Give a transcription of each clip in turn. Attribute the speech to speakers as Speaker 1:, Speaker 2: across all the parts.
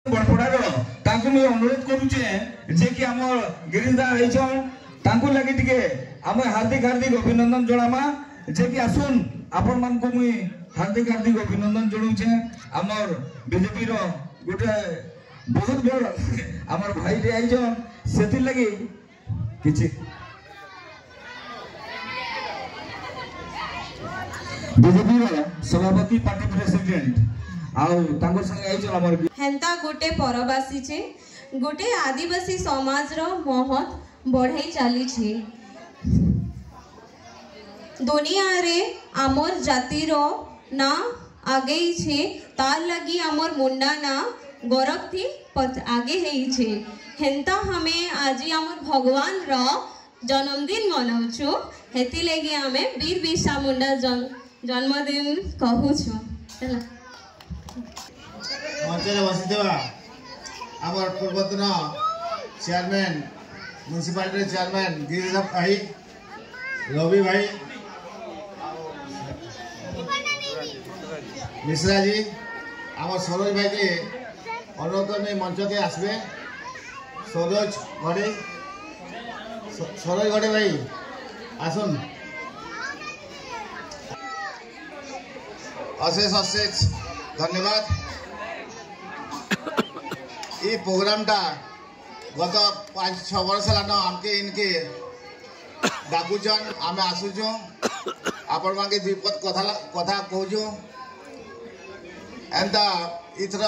Speaker 1: ବଡ଼ପଡ଼ାର ତାଙ୍କୁ ମୁଇଁ ଅନୁରୋଧ କରୁଛେ ଯେ କି ଆମର ଗିରିଶ ଦା ଆଇଛନ୍, ତାଙ୍କୁ ଲାଗି ଟିକେ ଆମେ ହାର୍ଦ୍ଦିକ ହାର୍ଦ୍ଦିକ ଅଭିନନ୍ଦନ ଜଣାମା ଯେ କି ଆସୁନ୍। ଆପଣ ମାନଙ୍କୁ ମୁଇଁ ହାର୍ଦ୍ଦିକ ହାର୍ଦ୍ଦିକ ଅଭିନନ୍ଦନ ଜଣାଉଛେ। ଆମର ବିଜେପିର ଗୋଟେ ବହୁତ ବଡ଼ ଆମର ଭାଇଟେ ଆଇଛନ୍, ସେଥିର୍ଲାଗି କିଛି ବିଜେପିର ସଭାପତି, ପାର୍ଟି ପ୍ରେସିଡେଣ୍ଟ ଆଉ ତାଙ୍କ ସାଙ୍ଗେ ଆଇଛନ୍ ଆମର।
Speaker 2: ହେନ୍ତା ଗୋଟେ ପରବ ଆସିଛେ, ଗୋଟେ ଆଦିବାସୀ ସମାଜର ମହତ ବଢ଼େଇ ଚାଲିଛି। ଦୁନିଆରେ ଆମର୍ ଜାତିର ନାଁ ଆଗେଇଛେ, ତାର୍ ଲାଗି ଆମର୍ ମୁଣ୍ଡା ନାଁ ଗରବ ଥି ଆଗେ ହେଇଛେ। ହେନ୍ତା ଆମେ ଆଜି ଆମର୍ ଭଗବାନର ଜନ୍ମଦିନ ମନାଉଛୁ, ହେଥିଲାଗି ଆମେ ବୀର ବିର୍ସା ମୁଣ୍ଡା ଜନ୍ମଦିନ କହୁଛୁ। ହେଲା।
Speaker 3: ମଞ୍ଚରେ ବସିଥିବା ଆମର ପୂର୍ବତନ ଚେୟାରମ୍ୟାନ୍, ମ୍ୟୁନିସିପାଲିଟିର ଚେୟାରମ୍ୟାନ୍ ଗିରିଶ ଭାଇ, ରବି ଭାଇ, ମିଶ୍ରାଜୀ, আমার সরোজ ভাইকে অনুরোধ আমি মঞ্চকে আসবে। সরোজ গড়ে, সরোজ গড়ে ভাই আসুন। অশেষ অশেষ ধন্যবাদ। এই প্রোগ্রামটা গত 5-6 বর্ষ ହେଲାନ ଆମକେ ଇନକେ ଡାକୁଛନ୍, ଆମେ ଆସୁଛୁ, ଆପଣମାନକେ ଦୁଇ ପଦ କଥା କହୁଛୁ। ଏନ୍ତା ଏଥର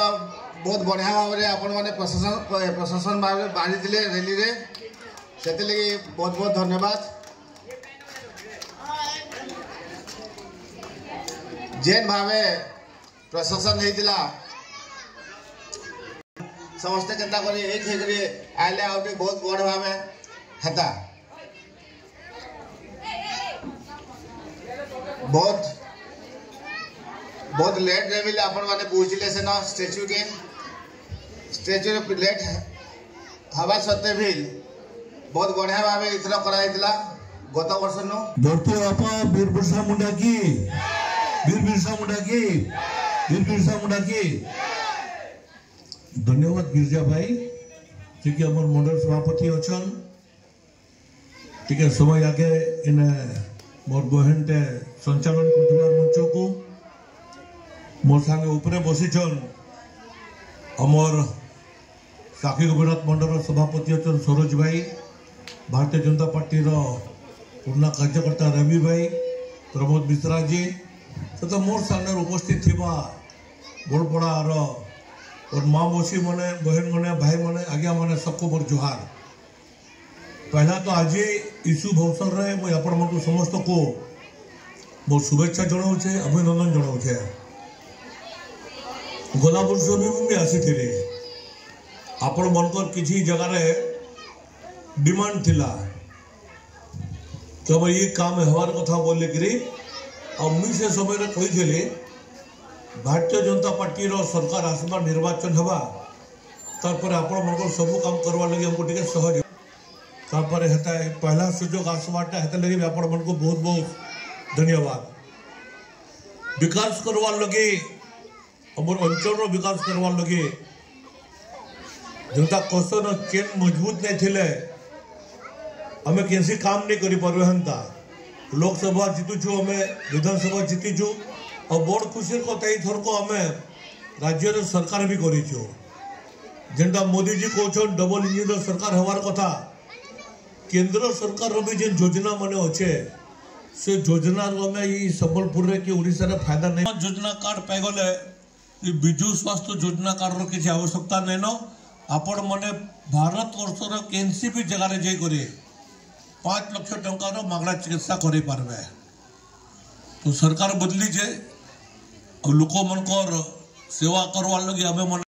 Speaker 3: ବହୁତ ବଢ଼ିଆ ଭାବରେ ଆପଣମାନେ ପ୍ରଶାସନ ଭାବରେ ବାହାରିଥିଲେ ର୍ୟାଲିରେ, ସେଥିଲାଗି ବହୁତ ବହୁତ ଧନ୍ୟବାଦ। ଯେନ୍ ଭାବେ ପ୍ରଶାସନ ହେଇଥିଲା, ସମସ୍ତେ କେନ୍ତା କରି ଏକ ହେଇକରି ଆଇଲେ ଆଉ ଟିକେ ବହୁତ ବଡ଼ ଭାବେ ହେତା। ବହୁତ ବହୁତ ଲେଟ୍ରେ ବି ଆପଣମାନେ ପହଞ୍ଚିଲେ ସେନ ଷ୍ଟାଚ୍ୟୁକେ। ଷ୍ଟାଚ୍ୟୁରେ ଲେଟ୍ ହେବା ସତ୍ତ୍ୱେ ବି ବହୁତ ବଢ଼ିଆ ଭାବେ ଏଥର କରାଯାଇଥିଲା ଗତ ବର୍ଷନୁ।
Speaker 4: ଧରତୀ ବାପା ବୀର ବିର୍ସା ମୁଣ୍ଡା କି, ବୀର ବିର୍ସା ମୁଣ୍ଡା କି, ବୀର ବିର୍ସା ମୁଣ୍ଡା କି। ଧନ୍ୟବାଦ ଗିରିଜା ଭାଇ, ଯେ କି ଆମର ମଣ୍ଡଳ ସଭାପତି ଅଛନ୍। ଟିକେ ସମୟ ଆଗେ ଇନେ ମୋର ବହେନଟେ ସଞ୍ଚାଳନ କରୁଥିବା ମଞ୍ଚକୁ। ମୋର୍ ସାଙ୍ଗେ ଉପରେ ବସିଛନ୍ ଆମର ସାକ୍ଷୀ ଗୋପୀନାଥ ମଣ୍ଡଳର ସଭାପତି ଅଛନ୍ ସରୋଜ ଭାଇ, ଭାରତୀୟ ଜନତା ପାର୍ଟିର ପୁରୁଣା କାର୍ଯ୍ୟକର୍ତ୍ତା ରବି ଭାଇ, ପ୍ରମୋଦ ମିଶ୍ରାଜୀ ତଥା ମୋର୍ ସାଙ୍ଗରେ ଉପସ୍ଥିତ ଥିବା ବଡ଼ପଡ଼ାର और माँ मौसी मने, बहन मने, भाई मने, आज्ञा मने, सबको मोर जोहार। पहला तो आज ईशु अवसर रे मुई आपण मन समस्त को मोर शुभेच्छा जणाउछे, अभिनंदन जणाउछे। गला वर्ष भी मुझे आसी आपण मनकर किसी जगह डिमांड थिला कि ये काम हवार कथा बोलिकी, आ मुई से समय रे कही भारतीय जनता पार्टी सरकार आसवा, निर्वाचन हवा, तारपर आपण मन सब काम करवा लगे हमको टे सहज। तापर हेता पहला सुजोग आसवाटा हेता लगे आपण मन को बहुत बहुत धन्यवाद। विकास करवार लगे, हमर अंचल विकास करवार लगे जनता कसन चेन मजबूत नहीं थिले हमें केसी काम नहीं करी पारे। हेंता लोकसभा जीतुछु, हमें विधानसभा जीतीछु और बड़ खुशी कथा ये थरक आम राज्य सरकार भी करीछु। जेनटा मोदी जी कहन डबल इंजिन सरकार हवार कथा, केंद्र सरकार भी जेन योजना माने अच्छे से योजना आम सम्बलपुर रे कि ओडिशा रे फायदा नहीं। योजना कार्ड पाइगले विजु स्वास्थ्य योजना कार्ड रो किछि आवश्यकता नहीं न। आपण मने भारत वर्षर केनसी भी जगह रे जाई करे 5 लक्ष टंकार मागणा चिकित्सा करे पारबे। तो सरकार बदली छे, लोक मनकर सेवा करवार लगी आमे मन